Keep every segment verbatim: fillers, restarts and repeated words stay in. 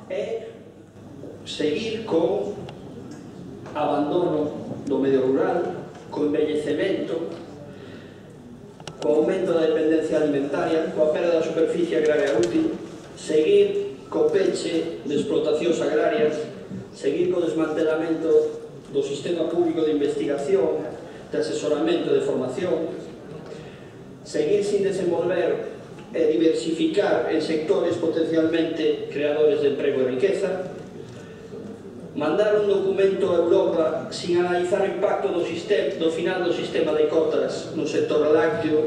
é seguir co abandono do medio rural, co envellecemento, co aumento da dependencia alimentaria, coa perda da superficie agraria útil, seguir co peche de explotacións agrarias, seguir co desmantelamento do sistema público de investigación, de asesoramento e de formación, seguir sin desenvolver e diversificar en sectores potencialmente creadores de emprego e riqueza, mandar un documento a Europa sin analizar o impacto do, sistema, do final do sistema de cotas no sector lácteo,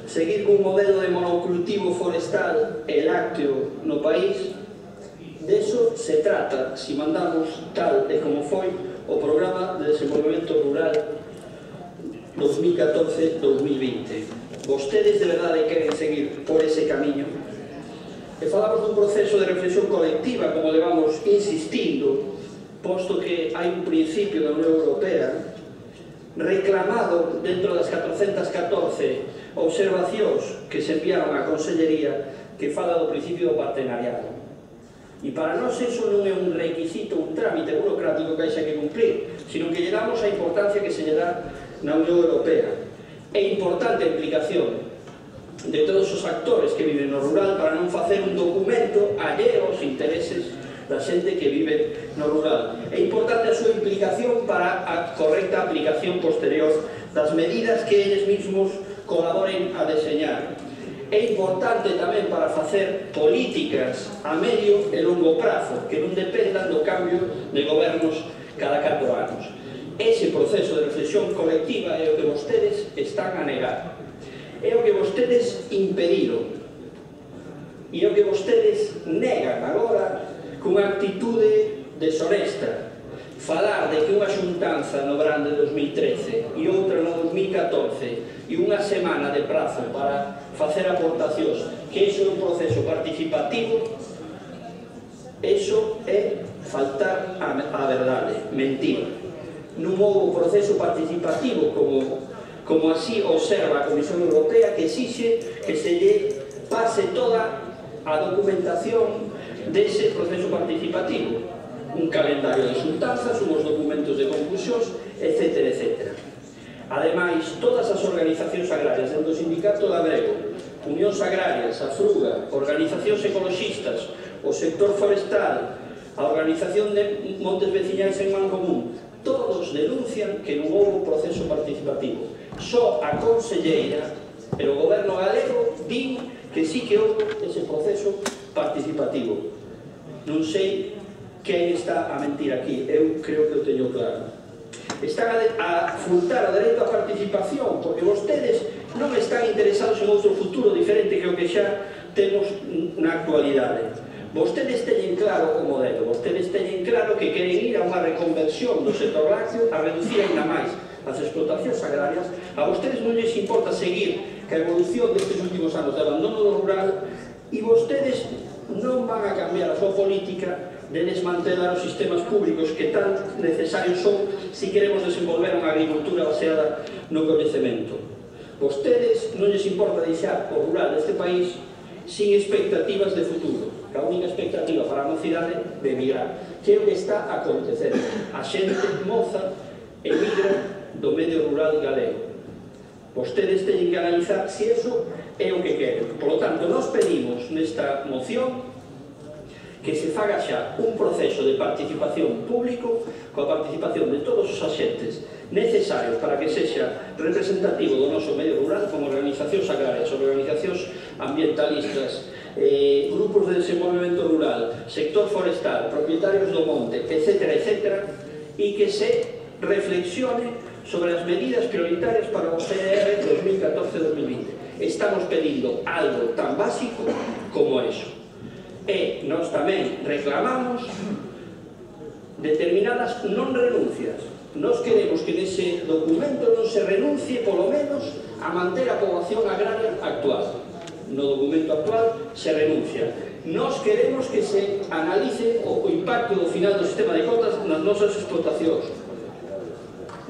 seguir cun modelo de monocultivo forestal e lácteo no país. De eso se trata si mandamos tal e como foi o Programa de Desenvolvemento Rural dos mil catorce a dos mil vinte. Vostedes de verdade queren seguir por ese camiño? E falamos dun proceso de reflexión colectiva, como levamos insistindo, posto que hai un principio da Unión Europea reclamado dentro das catrocentas catorce observacións que se enviaron á Consellería, que fala do principio do partenariado. E para nós eso non é un requisito, un trámite burocrático que hai que cumplir, sino que lle damos a importancia que se lle dá na Unión Europea. É importante a implicación de todos os actores que viven no rural para non facer un documento alleo aos intereses da xente que vive no rural. É importante a súa implicación para a correcta aplicación posterior das medidas que eles mesmos colaboren a deseñar. É importante tamén para facer políticas a medio e longo prazo que non dependan do cambio de gobernos cada catro anos. Ese proceso de reflexión colectiva é o que vostedes están a negar, é o que vostedes impediron e é o que vostedes negan agora cunha actitude deshonesta. Falar de que unha xuntanza no verán de dos mil trece e outra no dos mil catorce e unha semana de prazo para facer aportacións, que iso é un proceso participativo, iso é faltar a verdade, mentir. Non houve proceso participativo como, como así observa a Comisión Europea, que exixe que se lle pase toda a documentación dese proceso participativo, un calendario de xuntanzas, unhos documentos de conclusións, etcétera, etcétera. Ademais, todas as organizacións agrarias, dentro do Sindicato Labrego, Unións Agrarias, a Fruga, organizacións ecologistas, o sector forestal, a Organización de Montes Veciñais en Mancomún, todos denuncian que non houve proceso participativo. Só a conselleira e o goberno galego din que sí que houve ese proceso participativo. Non sei quen está a mentir aquí, eu creo que o teño claro. Están a furtar o dereito á participación porque vostedes non están interesados en outro futuro diferente que o que xa temos na actualidade. Vostedes teñen claro o modelo, vostedes teñen claro que queren ir a unha reconversión do sector lácteo, a reducir ainda máis as explotacións agrarias. A vostedes non lles importa seguir que a evolución destes últimos anos de abandono do rural, e vostedes non van a cambiar a súa política de desmantelar os sistemas públicos que tan necesarios son se queremos desenvolver unha agricultura baseada no coñecemento. Vostedes non lles importa deixar o rural deste país sin expectativas de futuro, que a única expectativa para a mocidade de emigrar, que é o que está a acontecer. A xente moza emigra do medio rural galego. Vostedes teñen que analizar se iso é o que queren. Por lo tanto, nós pedimos nesta moción que se faga xa un proceso de participación público coa participación de todos os axentes necesarios para que sexa representativo do noso medio rural, como organizacións agrarias, organizacións ambientalistas, eh, grupos de desenvolvemento rural, sector forestal, propietarios do monte, etcétera, etcétera, e que se reflexione sobre as medidas prioritarias para o P R dos mil catorce a dos mil vinte. Estamos pedindo algo tan básico como eso. E nós tamén reclamamos determinadas non renuncias. Nós queremos que nese documento non se renuncie polo menos a manter a poboación agraria actual. No documento actual se renuncia. Nós queremos que se analice o impacto do final do sistema de cotas nas nosas explotacións.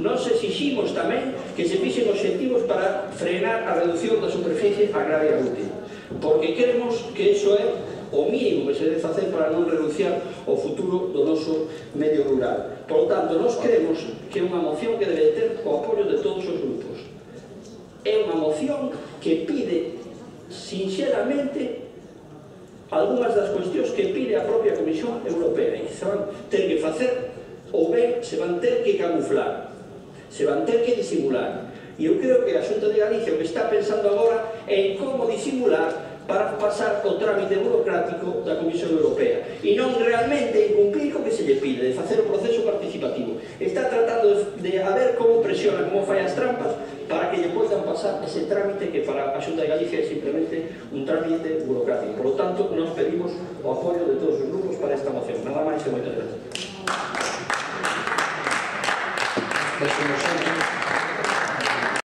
Nós exiximos tamén que se fixen obxectivos para frenar a reducción da superficie agraria útil, porque queremos que iso é o mínimo que se debe facer para non renunciar ao futuro do noso medio rural. Por lo tanto, nós creemos que é unha moción que debe ter o apoio de todos os grupos. É unha moción que pide sinceramente algunhas das cuestións que pide a propia Comisión Europea e se van ter que facer ou ben se van ter que camuflar, se van ter que disimular. E eu creo que a Xunta de Galicia o que está pensando agora é en como disimular para pasar o trámite burocrático da Comisión Europea e non realmente en cumprir co que se lle pide, de facer o proceso participativo. Está tratando de a ver como presiona, como fai as trampas para que lle poidan pasar ese trámite que para a Xunta de Galicia é simplemente un trámite burocrático. Por lo tanto, nos pedimos o apoio de todos os grupos para esta moción. Nada máis e moitas gracias.